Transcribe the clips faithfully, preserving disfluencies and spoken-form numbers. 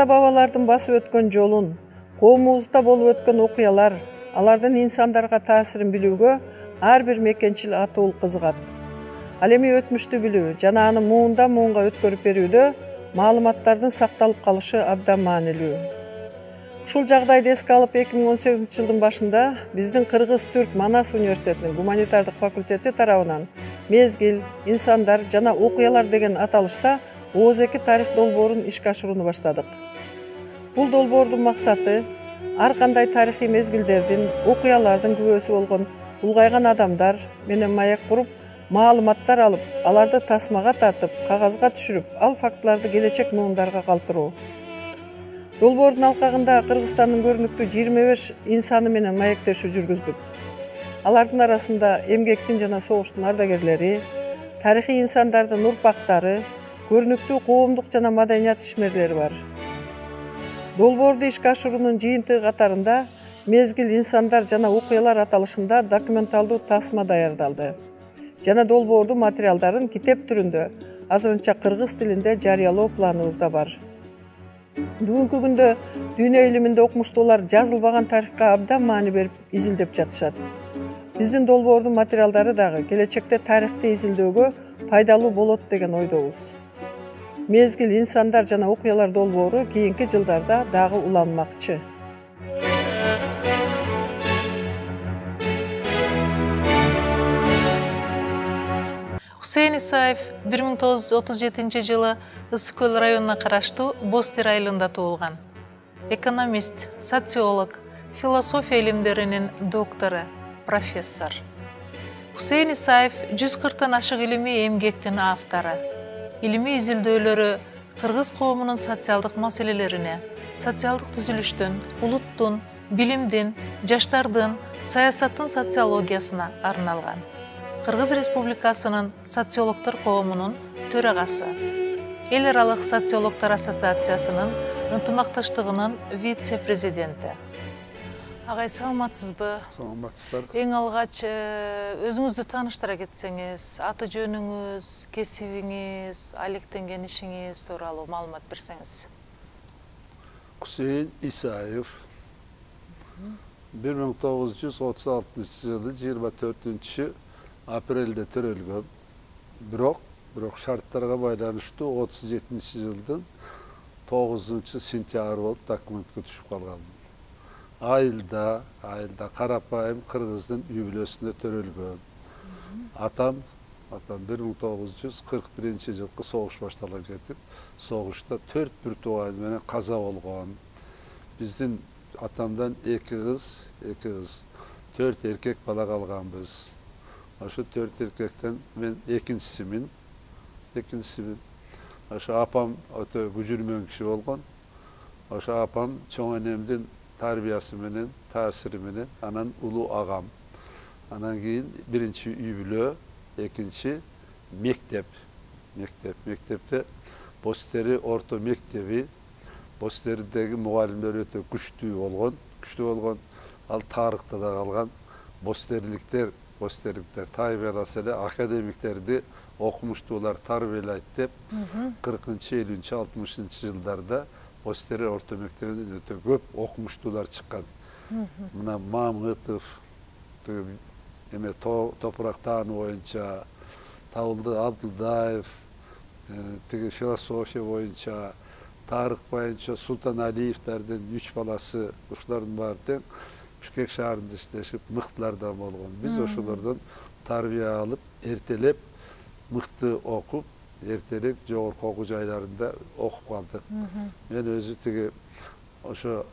ата-бабалардын басып өткөн жолун, коомубузда болуп өткөн окуялар, алардын инсандарга таасирин билүүгө ар бир мекенчил атуул кызыгат. Ал эми өтмүштү билүү жана аны муундан муунга өткөрүп берүүдө маалыматтардын сакталып калышы абдан маанилүү. Ушул жагдайды эске алып эки миң он сегизинчи жылдын башында биздин Кыргыз-Түрк Манас университетинин гуманитардык факультети тарабынан мезгил, инсандар жана окуялар деген аталышта Ооз эки тарых долбоорун ишке ашырууну баштадык. Бул долбоордун максаты ар кандай тарыхый мезгилдердин, окуялардын күбөсү болгон улгайган адамдар менен маяк куруп, маалыматтар алып, аларды тасмага тартып, кагазга түшүрүп, ал фактыларды келечек муундарга калтыруу. Долбоордун алкагында Кыргызстандын көрүнүктүү жыйырма беш инсаны менен маектешүү жүргүздүк. Алардын арасында эмгектин жана согуштун ардагерлери, тарыхый инсандардын урпактары, көрүнүктүү коомдук жана маданият ишмерлери бар. Долбоорду ишке ашыруунун жыйынтыгы катарында мезгил, инсандар жана окуялар аталышында документалдуу тасма даярдалды жана долбоордун материалдарын китеп түрүндө азырынча кыргыз тилинде жарыялоо планыбызда бар. Бүгүнкү күндө дүйнө илиминде окумуштуулар жазылбаган тарыхка абдан маани берип изилдеп жатышат. Биздин долбоордун материалдары дагы келечекте тарыхты изилдөөгө пайдалуу болот деген ойдобуз. Мезгил, инсандар жана окуялар долбоору кийинки жылдарда дагы уланмакчы. Хусейн Исаев бир миң тогуз жүз отуз жетинчи жылы Ысык көл районуна караштуу Бостер айылында туулган. Экономист, социолог, философия илимдеринин доктору, профессор. Хусейн Исаев жүз кырктан ашык илимий эмгектин автору. Илимий изилдөөлөрү кыргыз коомунун социалдык маселелерине, социалдык түзүлүштүн, улуттун, билимдин, жаштардын, саясаттын социологиясына арналган. Кыргыз Республикасынын социологдор коомунун төрагасы, Эл аралык социологдор ассоциациясынын ынтымакташтыгынын вице-президенти. Агай, саламатсызбы? Саламатсыздар. Эң алгач өзүңүздү тааныштыра кетсеңиз, аты жөнүңүз, кесибиңиз, алектенген ишиңиз тууралуу маалымат берсеңиз. Хусейн Исаев бир миң тогуз жүз отуз алтынчы жылы жыйырма төртүнчү апрелде төрөлгөн. Бирок, бирок шарттарга байланыштуу отуз жетинчи жылдын тогузунчу сентябрь болуп документке түшүп калган. Айылда, айылда карапайым кыргыздын үй бүлөсүндө төрөлгөн. Атам, атам бир миң тогуз жүз кырк биринчи жылкы согуш башталган кетип, согушта төрт бир тууган менен каза болгон. Биздин атамдан эки кыз, эки кыз, төрт эркек бала калганбыз. Ошо төрт эркектен мен экинчисимин. Экинчисимин. Ошо апам өтө күжүрмөн киши болгон. Ошо апам чоң энемдин тарбиясы менен, таасири менен, анан улуу агам. Анан кийин биринчи үй бүлө, экинчи мектеп. Мектеп, мектепте Бостери орто мектеби, Бостердеги мугалимдер өтө күчтүү болгон, күчтүү болгон. Ал тарыхта да калган. Бостерликтер, Бостерликтер тарбияласа эле академиктерди окумуштуулар тарбиялайт деп кыркынчы, элүүнчү, алтымышынчы жылдарда Бостери орто мектебинен өтө көп окумуштуулар чыккан. Мына Мамытов, эме топурак таануу боюнча, Табылды Абдылдаев, тиги философия боюнча, тарых боюнча Султаналиевтердин үч баласы, ушулардын баары тең Бишкек шаарында иштешип, мыктылардан болгон. Биз ошолордон тарбия алып, эртелеп, мыкты окуп, эртерээк жогорку окуу жайларында окуп калдык. Мен өзү тиги ошо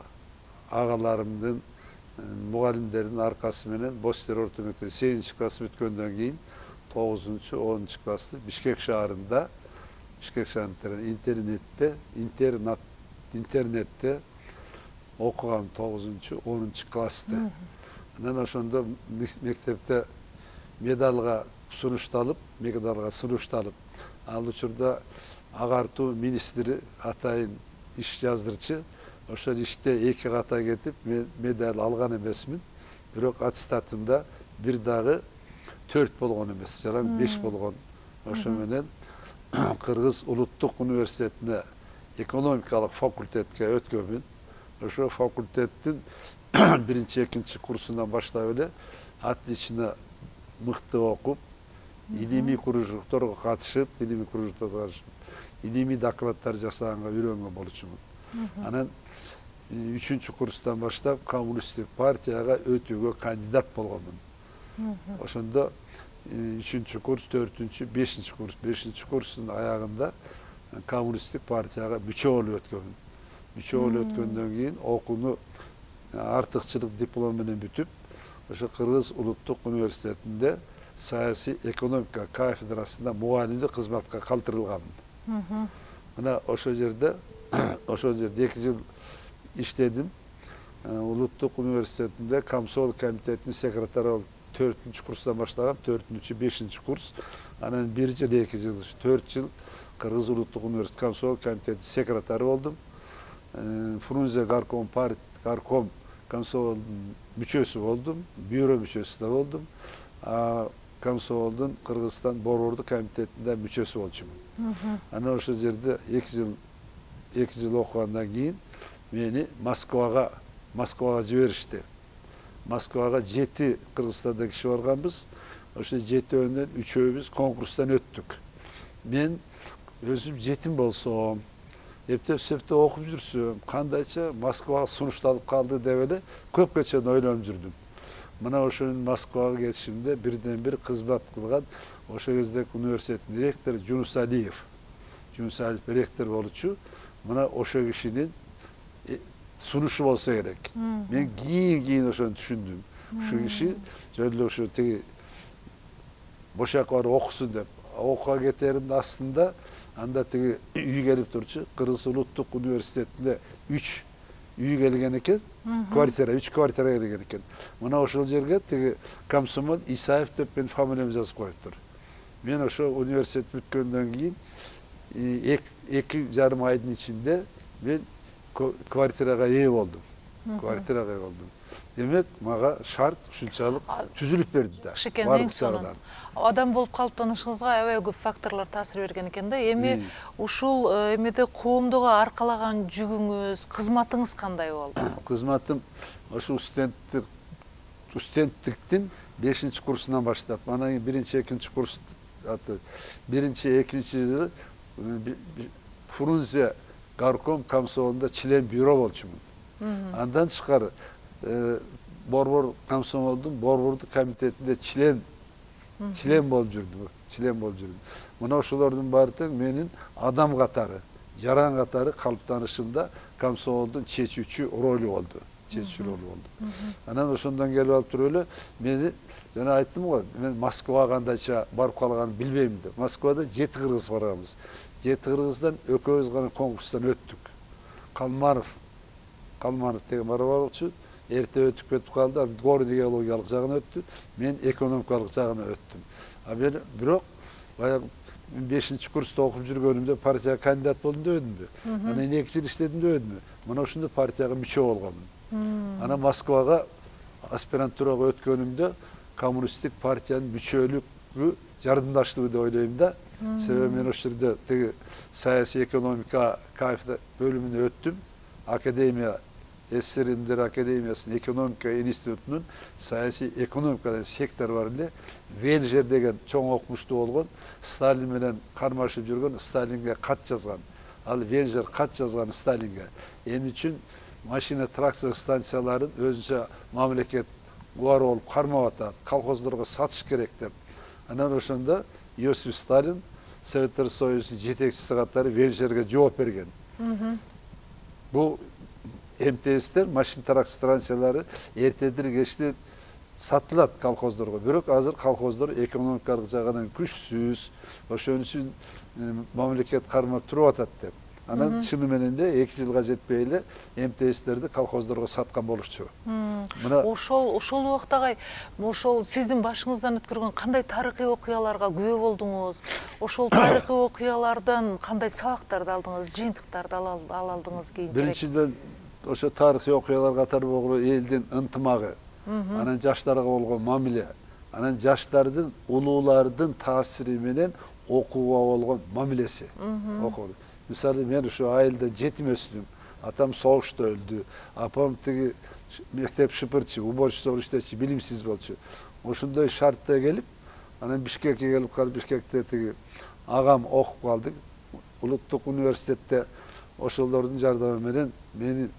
агаларымдын, мугалимдердин аркасы менен Бостер орто мектеби сегизинчи класс бүткөндөн кийин тогузунчу, онунчу классты Бишкек шаарында, Бишкек шаарында интернетте, интернат, интернетте окугам тогузунчу, онунчу классты. Анан ошондо мектепте медалга сунушталып, медалга сунушталып, ал учурда агартуу министри атайын иш жаздырчы. Ошол иште эки ката кетип, мен медаль алган эмесмин. Бирок аттестатымда бир дагы төрт болгон эмес, жараң беш болгон. Ошо менен Кыргыз улуттук университетине экономикалык факультетке өткөнмүн. Ошо факультеттин биринчи экинчи курсунан баштап эле отлично мыкты окуп, илимий кружокторго катышып, илимий кружокторго катышып, илимий докладдар жасаганга үйрөнгөн болчумун. Анан үчүнчү курстан баштап коммунисттик партияга өтүүгө кандидат болгонмун. Ошондо үчүнчү курс, төртүнчү, бешинчи курс, бешинчи курстун аягында коммунисттик партияга мүчө болуп өткөнмүн. Мүчө болуп өткөндөн кийин окууну артыкчылык диплом менен бүтүп, ошо Кыргыз улуттук университетинде саясий экономика кафедрасында мугалимдик кызматка калтырылганмын. Мына ошол жерде ошол жерде эки жыл иштедим. Улуттук университетинде комсомол комитетинин секретары болуп төртүнчү курстан баштагам, төртүнчү, бешинчи курс. Анан бир жыл, эки жыл, төрт жыл Кыргыз улуттук университет комсомол комитетинин секретары болдум. Фрунзе горком партия горком комсомолдун мүчөсү болдум, бюро мүчөсү да болдум. А комсомолдун Кыргызстан борбордук комитетинде мүчөсү болчумун. Анан ошол жерде эки жыл эки жыл окугандан кийин мени Москвага Москвага жиберишти. Москвага жети Кыргызстанда киши барганбыз. Ошо жетөөнөн үчөөбүз конкурстан өттүк. Мен өзүм жетим болсом, эптеп септеп окуп жүрсөм, кандайча Москвага сунушталып калды деп эле көпкө чейин ойлонуп жүрдүм. Мына ошонун Москвага кетишимде бирден бир кызмат кылган ошо кездеги университеттин ректору Жунус Алиев. Жунус Алиев ректор болчу. Мына ошо кишинин сунушу болсо керек. Мен кийин-кийин ошону түшүндүм. Ушул киши жөн эле ошо тиги бошакка барып окусун деп окууга кетеримдин астында анда тиги үй келип турчу. Кыргыз улуттук университетинде үч үй келген экен, квартира, үч квартира келген экен. Мына ошол жерге тиги комсомол Исаев деп менин фамилиямды жазып коюптур. Мен ошо университет бүткөндөн кийин эки жарым айдын ичинде мен квартирага ээ болдум. Квартирага ээ болдум. Демек, мага шарт ушунчалык түзүлүп берди да. Бардык жагынан. Адам болуп калыптанышыңызга аябай көп факторлор таасир берген экен да. Эми ушул эмеде коомдуга аркалаган жүгүңүз, кызматыңыз кандай болду? Кызматым ошо студенттик студенттиктин бешинчи курсунан баштап, анан кийин биринчи, экинчи курс аты биринчи, экинчи жылы Фрунзе горком комсомолунда член бюро болчумун. Андан тышкары борбор комсомолдун борбордук комитетинде член член болуп жүрдүм, член болуп жүрдүм. Мына ошолордун баары тең менин адам катары, жаран катары калыптанышымда комсомолдун чечүүчү ролу болду. Чечүүчү ролу болду. Анан ошондон келип алып туруп эле мени жана айттым го, мен Москвага кандайча барып калганын билбейм деп. Москвада жети кыргыз барганбыз. Жети кыргыздан экөөбүз гана конкурстан өттүк. Калманов, Калманов деген барып алчу, эрте өтүп кетип калды, ал горный геологиялык жагына өттү, мен экономикалык жагына өттүм. А мен бирок баягы бешинчи курста окуп жүргөнүмдө партияга кандидат болдум дебедимби? Анан эки жыл иштедим дебедимби? Мына ошондо партияга мүчө болгонмун. Анан Москвага аспирантурага өткөнүмдө коммунисттик партиянын мүчөлүгү жардамдаштыбы деп ойлойм да. Себеби мен ошол жерде тиги саясий экономика кафедра бөлүмүнө өттүм. Академия СССР Илимдер Академиясынын экономика институтунун саясий экономика деген сектор бар эле. Венжер деген чоң окумуштуу болгон, Сталин менен кармашып жүргөн, Сталинге кат жазган. Ал Венжер кат жазган Сталинге. Эмне үчүн машина тракция станцияларын өзүнчө мамлекет убары болуп кармап атат, колхоздорго сатыш керек деп. Анан ошондо Иосиф Сталин Советтер Союзунун жетекчиси катары Венжерге жооп берген. Бул МТСтер, машина тракция станциялары эртедир кечтир сатылат колхоздорго. Бирок азыр колхоздор экономикалык жагынан күчсүз, ошон үчүн мамлекет кармап туруп атат деп. Анан чыны менен де эки жылга жетпей эле МТСтерди колхоздорго саткан болушчу. Мына ошол ошол убактагы ошол сиздин башыңыздан өткөргөн кандай тарыхый окуяларга күбө болдуңуз? Ошол тарыхый окуялардан кандай сабактарды алдыңыз, жыйынтыктарды ала алдыңыз кийинчерээк? Биринчиден ошо тарыхый окуялар катары болгон элдин ынтымагы, анан жаштарга болгон мамиле, анан жаштардын, улуулардын таасири менен окууга болгон мамилеси. Мисалы мен ушу айылда жетим өстүм. Атам согушта өлдү. Апам тиги мектеп шыпырчы, уборчу иштечи, билимсиз болчу. Ошондой шартта келип, анан Бишкекке келип калып, Бишкекте тиги агам окуп калды. Улуттук университетте ошолордун жардамы менен мени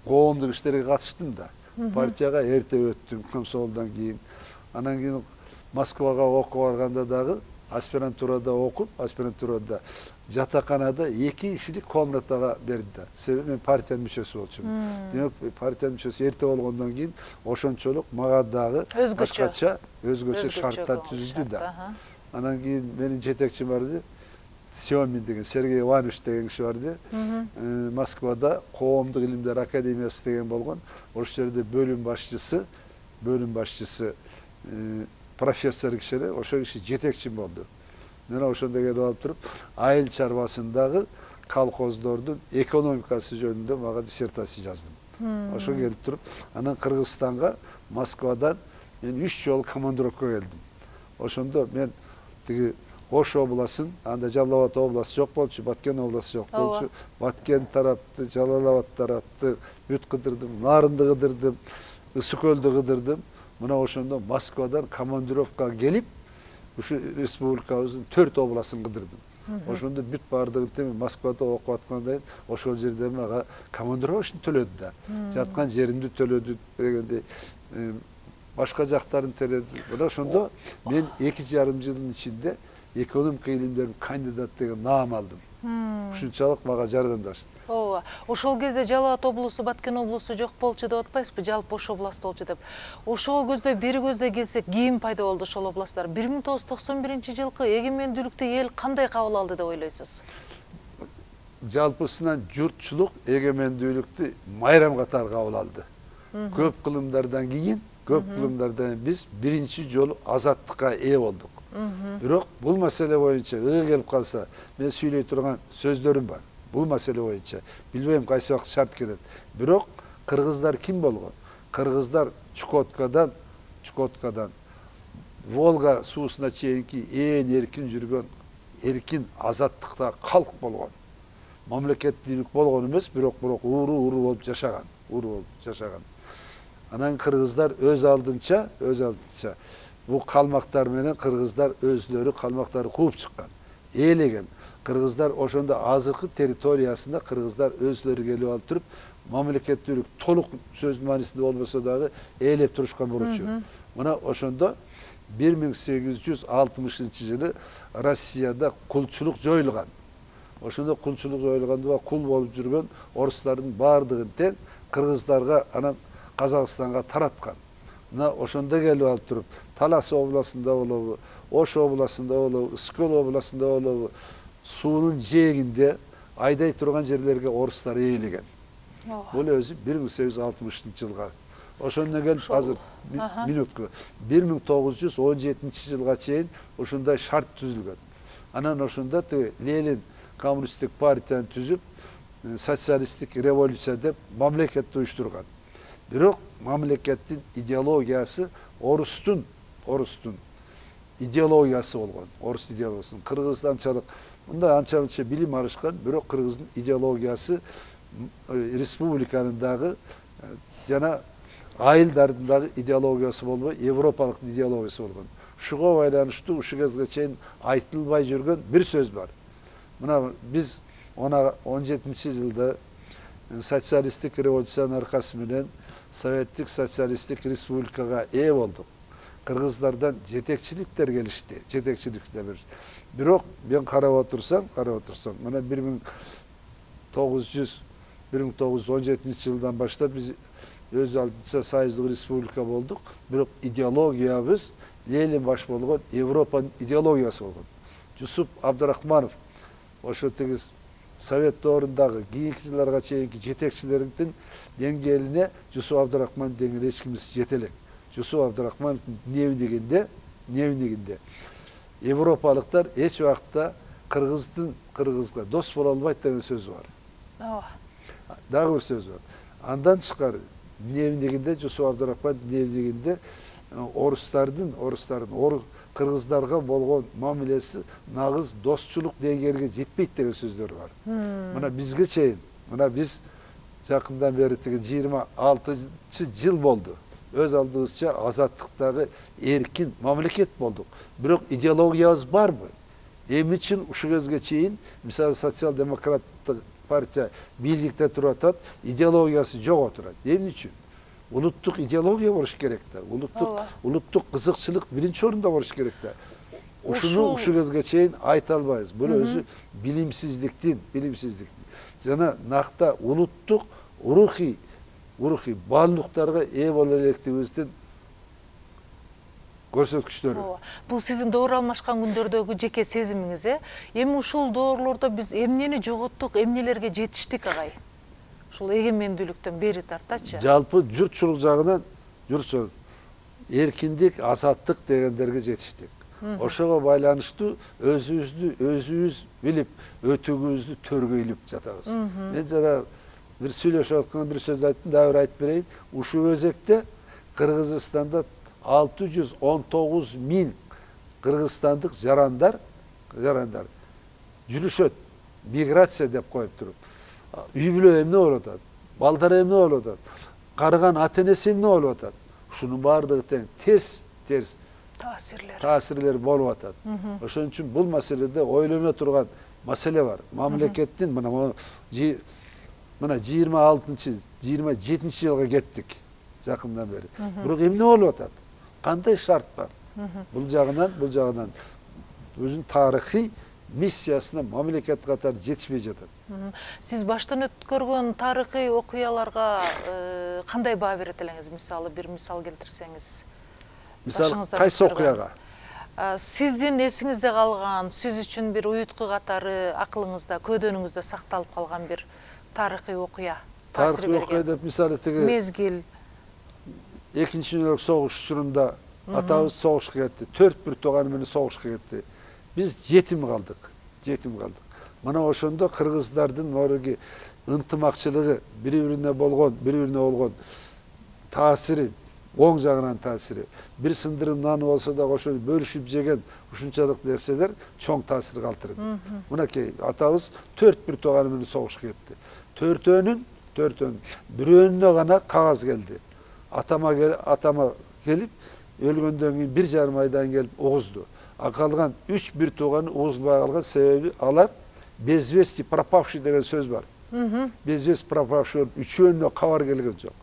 коомдук иштерге катыштым да. Партияга эрте өттүм, комсомолдон кийин. Анан кийин Москвага окууга барганда дагы аспирантурада окуп, аспирантурада жатаканада эки кишилик комнатага берди да. Себеби мен партиянын мүчөсү болчумун. Демек, партиянын мүчөсү эрте болгондон кийин ошончолук мага дагы башкача, өзгөчө шарттар түзүлдү да. Анан кийин менин жетекчим барды, Семин деген, Сергей Иванович деген киши барды. Москвада коомдук илимдер академиясы деген болгон. Ошол жерде бөлүм башчысы, бөлүм башчысы профессор киши эле, ошол киши жетекчим болду. Мен ошондо келип алып туруп, айыл чарбасындагы колхоздордун экономикасы жөнүндө мага диссертация жаздым. Ошо келип туруп, анан Кыргызстанга Москвадан мен үч жолу командировка келдим. Ошондо мен тиги Ош областын, анда Жалал Абад областы жок болчу, Баткен областы жок болчу. Баткен тарапты, Жалал Абад тарапты бүт кыдырдым, Нарынды кыдырдым, Ысык көлдү кыдырдым. Мына ошондо Москвадан командировкага келип, ушу республикабыздын төрт областын кыдырдым. Ошондо бүт баардыгын теме Москвада окуп аткандан ошол жерде мага командировочный төлөдү да. Жаткан жеримди төлөдү дегендей, башка жактарын төлөдү. Мына ошондо мен эки жарым жылдын ичинде экономика илимдеринин кандидат деген наам алдым. Ушунчалык мага жардамдашты. Ооба. Ошол кезде Жалал Абад облусу, Баткен облусу жок болчу деп атпайсызбы? Жалпы Ош областы болчу деп. Ошого көздөй, бери көздөй келсек, кийин пайда болду ошол областтар. бир миң тогуз жүз токсон биринчи жылкы эгемендүүлүктү эл кандай кабыл алды деп ойлойсуз? Жалпысынан журтчулук эгемендүүлүктү майрам катары кабыл алды. Көп кылымдардан кийин, көп кылымдардан биз биринчи жолу азаттыкка ээ болдук. Бирок бул маселе боюнча ыы келип калса, мен сүйлөй турган сөздөрүм бар. Бул маселе боюнча билбейм кайсы убакыт шарт келет. Бирок кыргыздар ким болгон? Кыргыздар Чукоткадан, Чукоткадан Волга суусуна чейинки ээн эркин жүргөн, эркин азаттыкта калк болгон. Мамлекеттүүлүк болгон эмес, бирок бирок ууру-ууру болуп жашаган, ууру болуп жашаган. Анан кыргыздар өз алдынча, өз алдынча бул калмактар менен кыргыздар өзлөрү калмактарды кууп чыккан, ээлеген. Кыргыздар ошондо азыркы территориясында кыргыздар өзлөрү келип алып туруп, мамлекеттүүлүк толук сөздүн маанисинде болбосо дагы ээлеп турушкан болчу. Мына ошондо бир миң сегиз жүз алтымышынчы жылы Россияда кулчулук жоюлган. Ошондо кулчулук жоюлганда кул болуп жүргөн орустардын баардыгын тең кыргыздарга, анан Казакстанга тараткан. Мына ошондо келип алып туруп, Талас областында болобу, Ош областында болобу, Ысык көл областында болобу, суунун жээгинде айдай турган жерлерге орустар ээлеген. Бул өзү бир миң сегиз жүз алтымышынчы жылга. Ошондон келип азыр минутка бир миң тогуз жүз он жетинчи жылга чейин ушундай шарт түзүлгөн. Анан ошондо Ленин коммунисттик партияны түзүп, социалисттик революция деп мамлекетти уюштурган. Бирок мамлекеттин идеологиясы орустун, орустун идеологиясы болгон. Орус идеологиясы. Кыргыз анчалык, мында анча-мынча билим алышкан, бирок кыргыздын идеологиясы республиканын дагы жана айылдардын дагы идеологиясы болбой, европалык идеологиясы болгон. Ушуга байланыштуу ушул кезге чейин айтылбай жүргөн бир сөз бар. Мына биз он жетинчи жылда социалисттик революциянын аркасы менен Советтик социалисттик республикага ээ болдук. Кыргыздардан жетекчиликтер келишти, жетекчиликтер беришти. Бирок мен карап отурсам, карап отурсам, мына бир миң тогуз жүз он жетинчи жылдан баштап биз өз алдынча союздук республика болдук. Бирок идеологиябыз Ленин баш болгон Европанын идеологиясы болгон. Жусуп Абдрахманов ошо тегиз Совет доорундагы кийинки жылдарга чейинки жетекчилердин деңгээлине Жусуп Абдрахман деген эч кимиз жете элек. Жусуп Абдрахмановдун дневнигинде, дневнигинде европалыктар эч убакта кыргыздын кыргызга дос боло албайт деген сөзү бар. Ооба. Дагы бир сөз бар. Андан тышкары дневнигинде, Жусуп Абдрахман дневнигинде орустардын, орустардын, кыргыздарга болгон мамилеси нагыз достчулук деңгээлге жетпейт деген сөздөр бар. Мына бизге чейин, мына биз жакындан бери тиги жыйырма алтынчы жыл болду. Өз алдыбызча азаттыктагы эркин мамлекет болдук. Бирок идеологиябыз барбы? Эмне үчүн ушул кезге чейин, мисалы социал-демократтык партия бийликте туруп атат, идеологиясы жок отурат. Эмне үчүн? Улуттук идеология болуш керек да. Улуттук улуттук кызыкчылык биринчи орунда болуш керек да. Ушуну ушул кезге чейин айта албайбыз. Бул өзү билимсиздиктин, билимсиздик. Жана накта улуттук рухий, рухий баалуулуктарга ээ боло электигибиздин көрсөткүчтөрү. Бул сиздин доор алмашкан күндөрдөгү жеке сезимиңиз, э? Эми ушул доорлордо биз эмнени жоготтук, эмнелерге жетиштик агай? Ушул эгемендүүлүктөн бери тартачы. Жалпы журтчулук жагынан журтчулук эркиндик, азаттык дегендерге жетиштик. Ошого байланыштуу өзүбүздү өзүбүз билип, өтүгүбүздү төргөйлүп жатабыз. Мен жана бир сүйлөшүп атканда бир сөз айттым, дагы бир айтып берейин. Ушул өзекте Кыргызстанда алты жүз он тогуз миң кыргызстандык жарандар, жарандар жүрүшөт. Миграция деп коюп туруп. Үй бүлө эмне болуп атат? Балдар эмне болуп атат? Карыган ата-энеси эмне болуп атат? Ушунун баардыгы тең терс, терс таасирлер. Таасирлер болуп атат. Ошон үчүн бул маселеде ойлоно турган маселе бар. Мамлекеттин мына мына жыйырма алтынчы, жыйырма жетинчи жылга кеттик жакындан бери. Бирок эмне болуп атат? Кандай шарт бар? Бул жагынан, бул жагынан өзүнүн тарыхый миссиясына мамлекет катары жетишпей жатат. Сиз баштан өткөргөн тарыхый окуяларга кандай баа берет элеңиз? Мисалы бир мисал келтирсеңиз. Мисалы кайсы окуяга? Сиздин эсиңизде калган, сиз үчүн бир уютку катары акылыңызда, көдөнүңүздө сакталып калган бир тарыхый окуя. Тарыхый окуя деп мисалы тиги мезгил. Экинчи Дүниелик согуш учурунда атабыз согушка кетти. төрт бир тууганы менен согушка кетти. Биз жетим калдык, жетим калдык. Мына ошондо кыргыздардын морги ынтымакчылыгы, бири-бирине болгон, бири-бирине болгон таасири, оң жагынан таасири, бир сындырым наны болсо да ошону бөлүшүп жеген ушунчалык нерселер чоң таасир калтырды. Мынакей атабыз төрт бир тууганы менен согушка кетти. Төртөөнүн, төртөөнүн бирөөнүнө гана кагаз келди. Атама атама келип, өлгөндөн кийин бир жарым айдан келип угузду. А калган үч бир тууганы угузбай калган себеби алар безвести пропавший деген сөз бар. Безвести пропавший болуп үчөөнүнө кабар келген жок.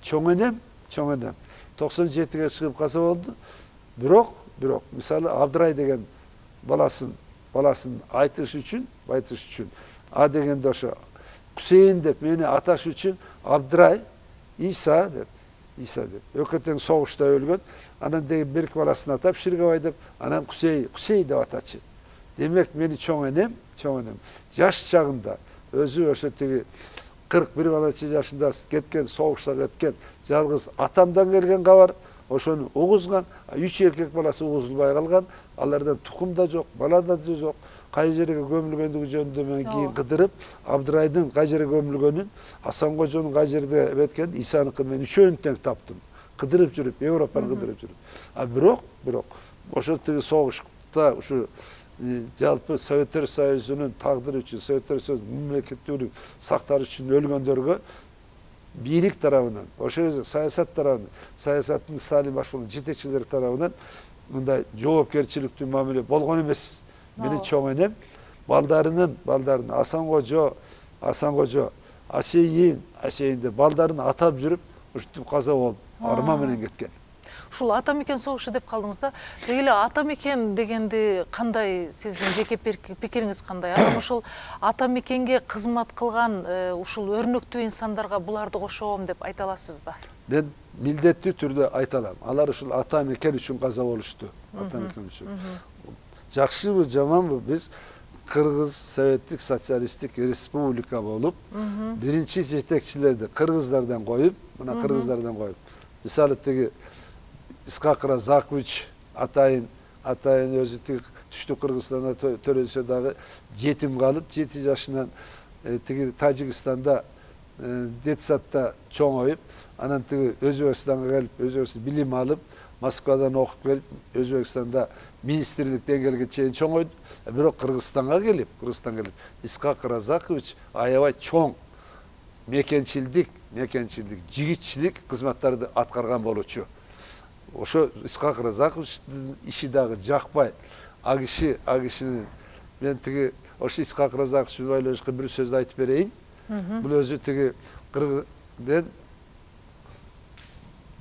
Чоң энем, чоң энем токсон жетиге чыгып калса болду. Бирок, бирок мисалы Абдрай деген баласын, баласын айтыш үчүн, айтыш үчүн а дегенде ошо Кусейин деп мени аташ үчүн Абдрай, Иса деп Иса деп. Өкөтең согушта өлгөн. Анан деги бир баласын атап Ширгабай деп, анан Кусей, Кусей деп атачы. Демек мени чоң энем, чоң энем. Жаш чагында өзү ошо тиги кырк бир жашында кеткен, согушта кеткен, жалгыз атамдан келген кабар, ошону угузган, үч эркек баласы угузулбай калган, алардан тукум да жок, бала да жок. Кай жерге көмүлгөндүгү жөнүндө мен кийин кыдырып, Абдрайдын кай жерге көмүлгөнүн, Асанкожонун кай жерде эметкен, Исаныкын мен үчөөнү тең таптым. Кыдырып жүрүп, Европаны кыдырып жүрүп. А бирок, бирок ошо тиги согушта ушу жалпы Советтер Союзунун тагдыры үчүн, Советтер Союзунун мамлекеттүүлүк сактар үчүн өлгөндөргө бийлик тарабынан, ошо саясат тарабынан, саясаттын Сталин башкарган жетекчилери тарабынан мындай жоопкерчиликтүү мамиле болгон эмес. Мени чоң энем балдарынын, балдарын Асанкожо, Асанкожо, Асейин, Асейинде балдарын атап жүрүп, ушинтип каза болуп, арма менен кеткен. Ушул ата мекен согушу деп калдыңыз да. Эле ата мекен дегенди кандай, сиздин жеке пикириңиз кандай? Анан ушул ата мекенге кызмат кылган ушул өрнөктүү инсандарга буларды кошобом деп айта аласызбы? Мен милдеттүү түрдө айта алам. Алар ушул ата мекен үчүн каза болушту. Ата мекен үчүн. Жакшыбы, жаманбы, биз Кыргыз Советтик Социалисттик Республика болуп, биринчи жетекчилерди кыргыздардан коюп, мына кыргыздардан коюп. Мисалы тиги Исхак Разакович атайын, атайын өзү тиги түштүк Кыргызстанда төрөлсө дагы жетим калып, жети жашынан тиги Тажикстанда детсадта чоңоюп, анан тиги Өзбекстанга келип, Өзбекстанда билим алып, Москвадан окуп келип, Өзбекстанда министрлик деңгээлге чейин чоңойду. Бирок Кыргызстанга келип, Кыргызстанга келип, Исхак Разакович аябай чоң мекенчилдик, мекенчилдик, жигитчилик кызматтарды аткарган болчу. Ошо Исхак Разаковичтин иши дагы жакпай, а киши, а кишинин мен тиги ошо Исхак Разакович байланышкы бир сөздү айтып берейин. Бул өзү тиги мен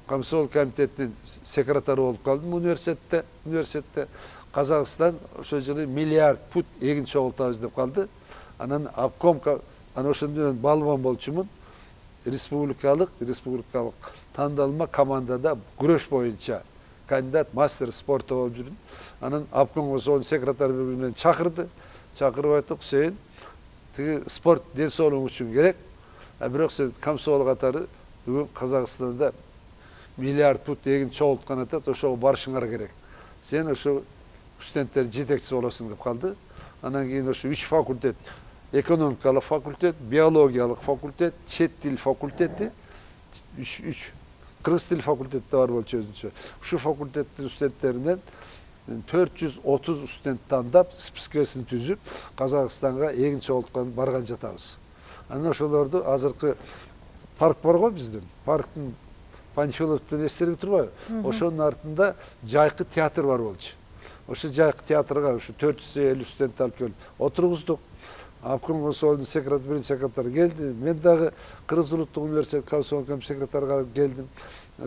Комсомол комитетинин секретары болуп калдым университетте. Университетте Казакстан ошол жылы миллиард пут эгин чогултабыз деп калды. Анан обком, анан ошондо мен балбан болчумун. Республикалык, республикалык тандалма командада күрөш боюнча кандидат мастер спорта болуп жүрдүм. Анан обком сонун секретары менен чакырды. Чакырып айтып, "Сен тиги спорт ден соолугуң үчүн керек. А бирок сен Комсомол катары бүгүн Казакстанда миллиард пут эгин чогулткан атат, ошого барышыңар керек. Сен ошо студенттердин жетекчиси болосуң" деп калды. Анан кийин ошо үч факультет, экономикалык факультет, биологиялык факультет, чет тил факультети, үч үч кыргыз тил факультети бар болчу өзүнчө. Ушу факультеттин студенттеринен төрт жүз отуз студент тандап, спискесин түзүп, Казакстанга эгин чогулткан барган жатабыз. Анан ошолорду азыркы парк бар го биздин. Парктын Панфиловдун эстериги турбайбы? Ошонун артында жайкы театр бар болчу. Ошо жайкы театрга ушу төрт жүз элүү студент алып келип отургуздук. Обком Комсомолдун секретары, биринчи секретары келди. Мен дагы Кыргыз улуттук университет Комсомол секретарга келдим.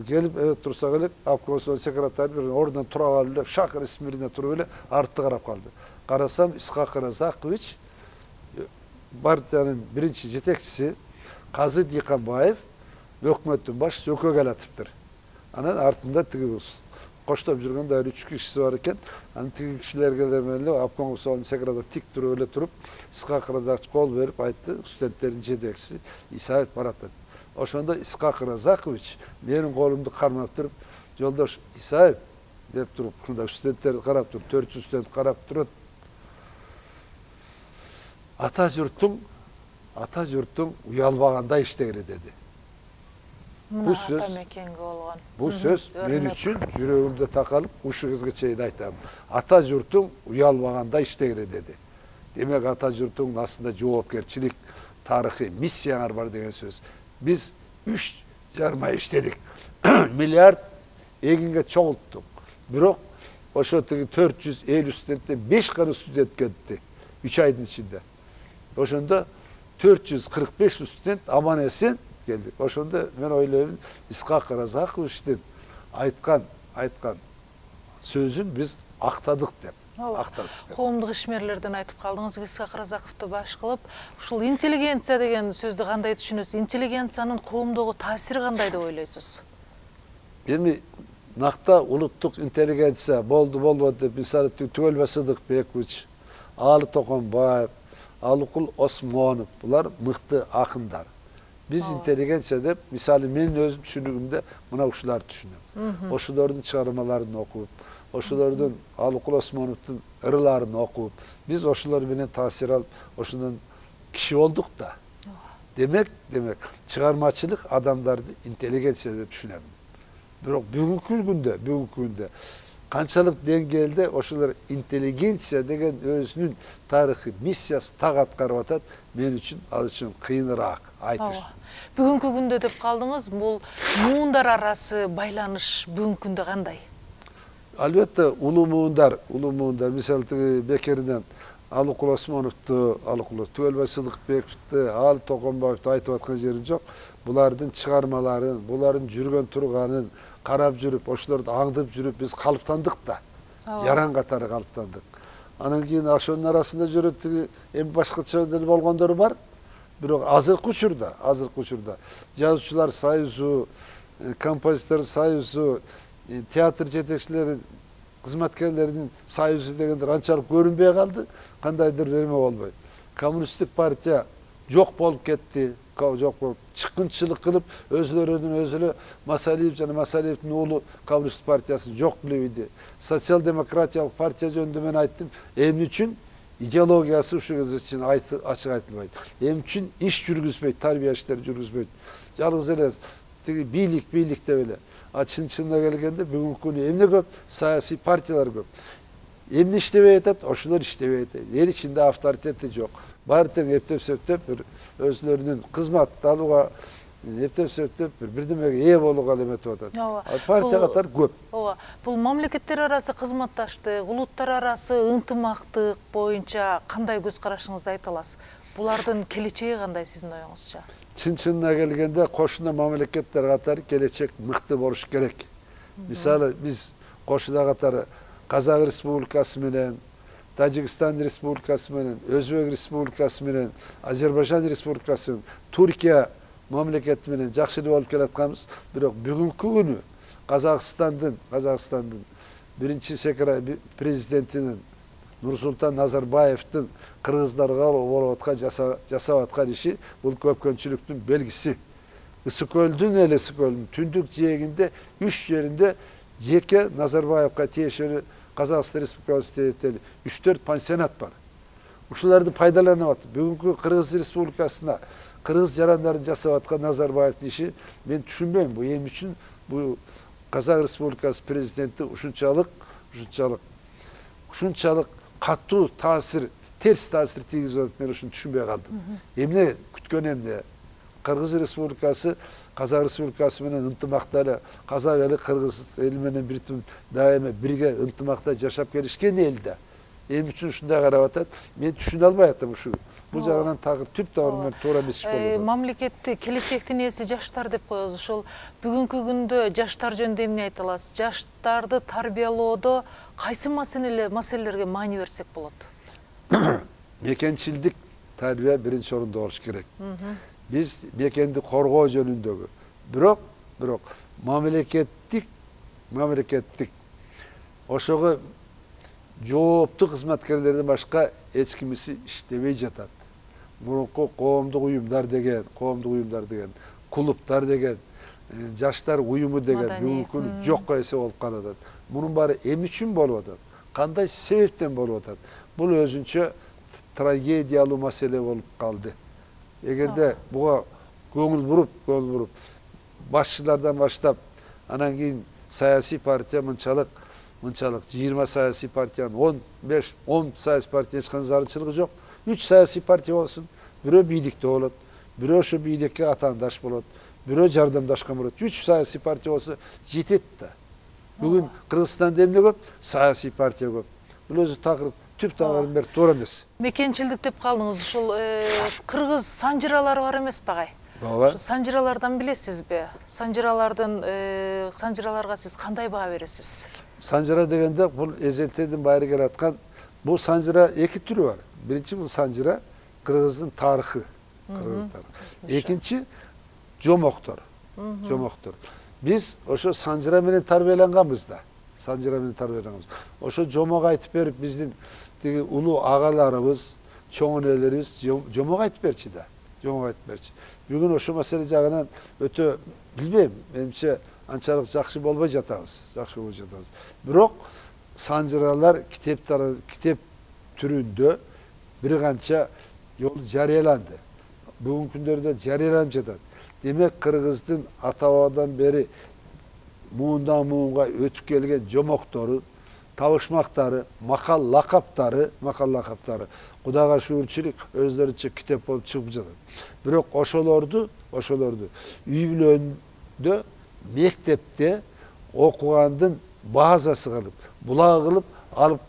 Келип, evet турса келип, обком секретары бир ордунан тура калып эле, шак ресмирине туруп эле артты карап калды. Карасам, Исхак Разакович партиянын биринчи жетекчиси Казы Диканбаев өкмөттүн башчысы өкө келатыптыр. Анан артында тиги коштоп жүргөн дагы үч кишиси бар экен. Анан тиги кишилерге эле обком секретары тик туруп эле туруп, Исхак Разакович кол берип айтты, студенттердин жетекчиси Исаев барат. Ошондо Исхак Разакович менин колумду кармап туруп, "Жолдош Исаев" деп туруп, мында студенттерди карап туруп, төрт жүз студент карап турат. Ата журттуң, ата журттуң уялбаганда иштегиле деди. Бул сөз мекенге болгон. Бул сөз мен үчүн жүрөгүмдө такалып, ушу кызга чейин айтам. Ата журттуң уялбаганда иштегиле деди. Демек ата журттуң астында жоопкерчилик, тарыхый миссияңар бар деген сөз. Биз үч жарым ай иштедик. Миллиард эгинге чогулттук. Бирок ошо тиги төрт жүз элүү студенттен беш гана студент кетти үч айдын ичинде. Ошондо төрт жүз кырк беш студент аман эсен келди. Ошондо мен ойлойм, Исхак Разаковичтин айткан, айткан сөзүн биз актадык деп. Актадык. Коомдук ишмерлерден айтып калдыңыз, Исхак Разаковду баш кылып, ушул интеллигенция деген сөздү кандай түшүнөсүз? Интеллигенциянын коомдогу таасири кандай деп ойлойсуз? Эми накта улуттук интеллигенция болду болбоду деп мисалы Түгөл Сыдыкбекович, Алы Токонбаев, Алыкул Осмонов, булар мыкты акындар. Биз интеллигенция деп, мисалы мен өзүм түшүнүгүмдө мына ушуларды түшүнөм. Ошолордун чыгармаларын окуп, ошолордун Алыкул Осмоновдун ырыларын окуп, биз ошолор менен таасир алып, ошондон киши болдук да. Демек, демек, чыгармачылык адамдарды интеллигенция деп түшүнөм. Бирок бүгүнкү күндө, бүгүнкү күндө канчалык деңгээлде ошолор интеллигенция деген өзүнүн тарыхый миссиясы так аткарып атат, мен үчүн ал үчүн кыйыныраак айтыш. Бүгүнкү күндө деп калдыңыз, бул муундар арасы байланыш бүгүнкү күндө кандай? Албетте, улуу муундар, улуу муундар, мисалы тиги Бекеринен Алыкул Осмоновду, Алыкул Түгөл Сыдыкбековду, Алы Токонбаевду айтып аткан жерим жок. Булардын чыгармаларын, булардын жүргөн турганын карап жүрүп, ошолорду аңдып жүрүп, биз калыптандык да. Жаран катары калыптандык. Анан кийин ошонун арасында жүрөт тиги эми башкача болгондору бар. Бирок азыркы учурда, азыркы учурда жазуучулар союзу, композитор союзу, театр жетекчилери, кызматкерлердин союзу дегендер анчалык көрүнбөй калды, кандайдыр эме болбойт. Коммунисттик партия жок болуп кетти, жок болуп, чыккынчылык кылып, өзлөрүнүн өзүлө Масалиев жана Масалиевдин уулу Коммунисттик партиясын жок кылып иди. Социал-демократиялык партия жөнүндө мен айттым, эмне үчүн идеологиясы ушу кез үчүн ачык айтылбайт. Эмне үчүн иш жүргүзбөйт, тарбия иштери жүргүзбөйт. Жалгыз эле тиги бийлик бийлик деп эле. А чын чынына келгенде бүгүнкү күнү эмне көп? Саясий партиялар көп. Эмне иштебей атат? Ошолор иштебей атат. Эл ичинде авторитети жок. Баары тең эптеп сөктөп бир өзлөрүнүн кызмат алууга, эптеп сөктөп бир бирдемеге ээ болууга эметип атат. Партия катары көп. Ооба. Бул мамлекеттер арасы кызматташтык, улуттар арасы ынтымактык боюнча кандай көз карашыңызды айта аласыз? Булардын келечеги кандай сиздин оюңузча? Чын чынына келгенде кошуна мамлекеттер катары келечек мыкты болуш керек. Мисалы биз кошуна катары Казак Республикасы менен, Тажикстан Республикасы менен, Өзбек Республикасы менен, Азербайжан Республикасы, Туркия мамлекети менен жакшы болуп келатканбыз. Бирок бүгүнкү күнү Казакстандын, Казакстандын биринчи секретар президентинин Нурсултан Назарбаевдин кыргыздарга болуп аткан жасап аткан иши бул көпкөнчүлүктүн белгиси. Ысык көлдүн эле ысык көлдүн түндүк жээгинде үч жеринде жеке Назарбаевга тиешелүү Казакстан Республикасы териториясында үч төрт пансионат бар. Ушуларды пайдаланып атат. Бүгүнкү Кыргыз Республикасына кыргыз жарандарын жасап аткан Назарбаевдин иши мен түшүнбөйм. Бу эми үчүн бу Казак Республикасы президенти ушунчалык, ушунчалык, ушунчалык катуу таасир, терс таасир тийгизип атат, мен ушуну түшүнбөй калдым. Эмне күткөн эмне? Кыргыз Республикасы Казак Республикасы менен ынтымакта эле, Казак эли Кыргыз эли менен бир дайыма бирге ынтымакта жашап келишкен эл да. Эми үчүн ушундай карап атат. Мен түшүнө албай атам ушу. Бул жагынан тагы түп тамыры туура эмес иш болот. Мамлекетти келечектин ээси жаштар деп коебуз. Ошол бүгүнкү күндө жаштар жөнүндө эмне айта аласыз? Жаштарды тарбиялоодо кайсы маселелерге маани берсек болот? Мекенчилдик тарбия биринчи орунда болуш керек. Биз мекенди коргоо жөнүндөгү, бирок, бирок мамлекеттик, мамлекеттик ошого жооптуу кызматкерлерден башка эч кимиси иштебей жатат. Мурунку коомдук уюмдар деген, коомдук уюмдар деген, клубтар деген, жаштар уюму деген бүгүнкү жокко эсе болуп калат. Мунун баары эмне үчүн болуп атат? Кандай себептен болуп атат? Бул өзүнчө трагедиялуу маселе болуп калды. Эгерде буга көңүл буруп, көңүл буруп, башчылардан баштап, анан кийин саясий партия мынчалык, мынчалык жыйырма саясий партиянын он беш, он саясий партия эч кандай зарылчылыгы жок. үч саясий партия болсун, бирөө бийликте болот, бирөө ошо бийликке атаандаш болот, бирөө жардамдашкан болот. үч саясий партия болсо жетет да. Бүгүн Кыргызстанда эмне көп? Саясий партия көп. Бул өзү такыр түп тамырын бери туура эмес. Мекенчилдик деп калдыңыз. Ушул кыргыз санжыралары бар эмеспи агай? Ооба. Санжыралардан билесизби? Санжыралардын санжыраларга сиз кандай баа бересиз? Санжыра дегенде бул эзелтеден баары келаткан бул санжыра эки түрү бар. Биринчи бул санжыра кыргыздын тарыхы, кыргыз тарыхы. Экинчи жомоктор. Жомоктор. Биз ошо санжыра менен тарбияланганбыз да. Санжыра менен тарбияланганбыз. Ошо жомок айтып берип биздин тиги улуу агаларыбыз, чоң энелерибиз жомок айтып берчи да. Жомок айтып берчи. Бүгүн ошо маселе жагынан өтө билбейм, менимче анчалык жакшы болбой жатабыз, жакшы болбой жатабыз. Бирок санжыралар китептер, китеп түрүндө бир канча жол жарыяланды. Бүгүнкү күндөрдө жарыяланып жатат. Демек кыргыздын ата-бабадан бери муундан муунга өтүп келген жомоктору, табышмактары, макал лакаптары, макал лакаптары Кудайга шүгүрчүлүк өздөрүнчө китеп болуп чыгып жатат. Бирок ошолорду, ошолорду үй бүлөндө, мектепте окугандын базасы кылып, булак кылып алып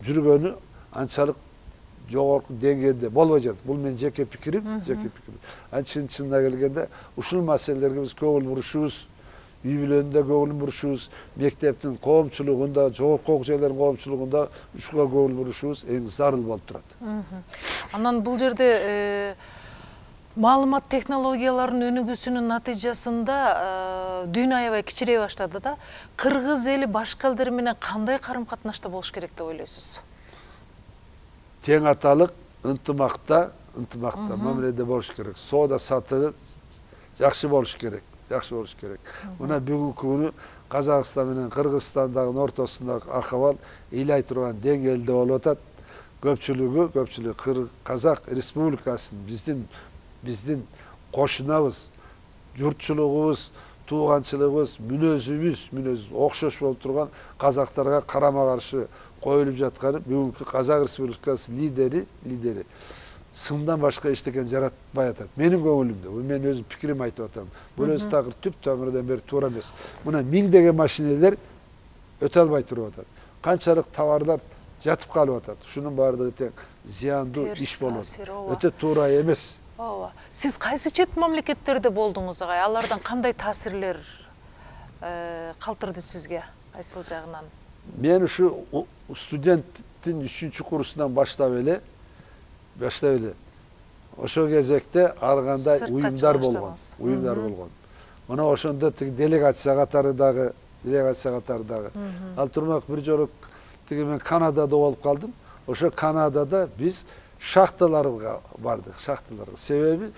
жүргөнү анчалык жогорку деңгээлде болбой жатат. Бул менин жеке пикирим, жеке пикирим. Анчын чынына келгенде ушул маселелерге биз көңүл бурушубуз, үй бүлөндө көңүл бурушубуз, мектептин коомчулугунда, жогорку окуу жайлардын коомчулугунда ушуга көңүл бурушубуз эң зарыл болуп турат. Анан бул жерде маалымат технологияларынын өнүгүүсүнүн натыйжасында дүйнө аябай кичирей баштады да. Кыргыз эли башка элдер менен кандай карым-катнашта болуш керек деп ойлойсуз? Тең аталык, ынтымакта, ынтымакта мамиледе болуш керек. Соода сатыгы жакшы болуш керек, жакшы болуш керек. Мына бүгүнкү күнү Казакстан менен Кыргызстандагы ортосундагы акыбал ыйлай турган деңгээлде болуп атат. Көпчүлүгү, көпчүлүгү Казак Республикасын биздин биздин кошунабыз, журтчулугубуз, тууганчылыгыбыз, мүнөзүбүз, мүнөз окшош болуп турган казактарга карама каршы коюлуп жатканы бүгүнкү Казак Республикасы лидери, лидери сымдан башка эчтекен жаратпай атат. Менин көңүлүмдө, бул мен өзүм пикирим айтып атам. Бул өзү такыр түп тамырдан бери туура эмес. Мына миңдеген машинелер өтө албай туруп атат. Канчалык товарлар жатып калып атат. Ушунун баардыгы тең зыяндуу иш болот. Өтө туура эмес. Ооба. Сиз кайсы чет мамлекеттерде болдуңуз агай? Алардан кандай таасирлер калтырды сизге? Кайсыл жагынан? Мен ушу студенттин үчүнчү курсунан баштап эле баштап эле ошол кезекте ар кандай уюмдар болгон, уюмдар болгон. Мына ошондо тиги делегация катары дагы, делегация катары дагы. Ал турмак бир жолу тиги мен Канадада болуп калдым. Ошо Канадада биз шахталарга бардык, шахталарга. Себеби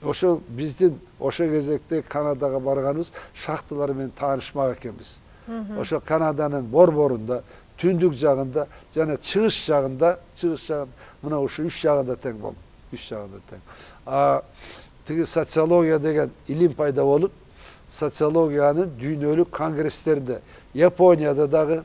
ошо биздин ошо кезекте Канадага барганыбыз шахталар менен таанышмак экенбиз. Ошо Канаданын борборунда, түндүк жагында жана чыгыш жагында, чыгыш жагында мына ушу үч жагында тең болду. Үч жагында тең. А тиги социология деген илим пайда болуп, социологиянын дүйнөлүк конгресстерде, Японияда дагы,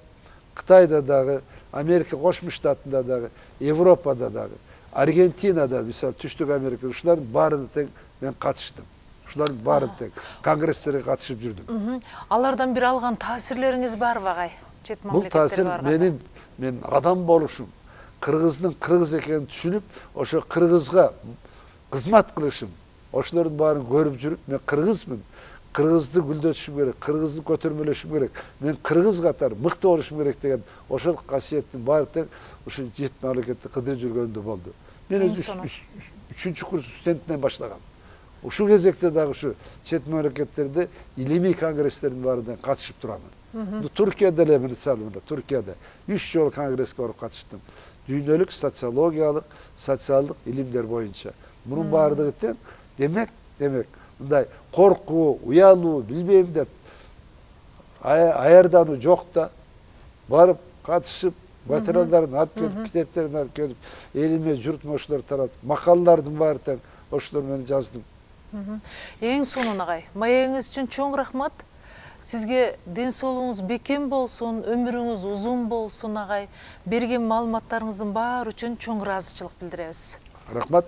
Кытайда дагы, Америка Кошмо Штатында дагы, Европада дагы, Аргентинада, мисалы Түштүк Америка, ушулардын баарына тең мен катыштым. Ушулардын баарын тең конгресстерге катышып жүрдүм. Алардан бир алган таасирлериңиз барбы агай? Чет мамлекеттерге барганда. Бул таасир менин мен адам болушум, кыргыздын кыргыз экенин түшүнүп, ошо кыргызга кызмат кылышым, ошолордун баарын көрүп жүрүп, мен кыргызмын. Кыргызды гүлдөтүшүм керек, кыргызды көтөрмөлөшүм керек. Мен кыргыз катары мыкты болушум керек деген ошол касиеттин баары тең ушу чет мамлекетте кыдырып жүргөндө болду. Мен өзү үчүнчү курс студентинен баштагам. Ушул кезекте дагы ушу чет мамлекеттерде илимий конгресстердин баарына катышып турамын. Туркияда эле мисалы мына Туркияда үч жолу конгресске барып катыштым. Дүйнөлүк социологиялык, социалдык илимдер боюнча. Мунун баардыгы тең демек, демек мындай коркуу, уялуу, билбейм деп аярдануу жок да. Барып катышып, материалдарын алып келип, китептерин алып келип, элиме, журтума ошолор таратып, макалалардын баары тең ошолор менен жаздым. Эң сонун агай, маегиңиз үчүн чоң рахмат. Сизге ден соолугуңуз бекем болсун, өмүрүңүз узун болсун агай. Берген маалыматтарыңыздын баары үчүн чоң ыраазычылык билдиребиз. Рахмат.